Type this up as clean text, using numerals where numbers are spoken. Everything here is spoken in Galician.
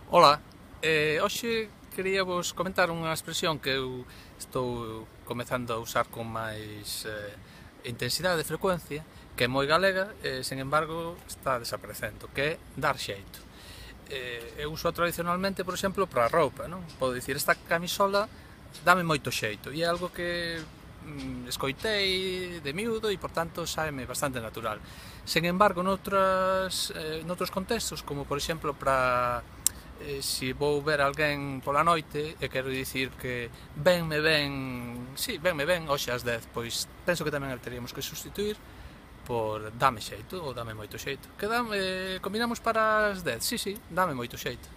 Ola, hoxe quería vos comentar unha expresión que eu estou comezando a usar con máis intensidade e frecuencia, que é moi galega e, sen embargo, está desaparecendo, que é dar xeito. Eu uso tradicionalmente, por exemplo, para a roupa, non? Podo dicir, esta camisola dame moito xeito, e é algo que escoitei de miúdo e, por tanto, sáeme bastante natural. Sen embargo, noutros contextos, como, por exemplo, para se vou ver alguén pola noite e quero dicir que venme ben hoxe ás 10, pois penso que tamén teríamos que sustituir por dame xeito ou dame moito xeito. Que combinamos para as 10? Sí, dame moito xeito.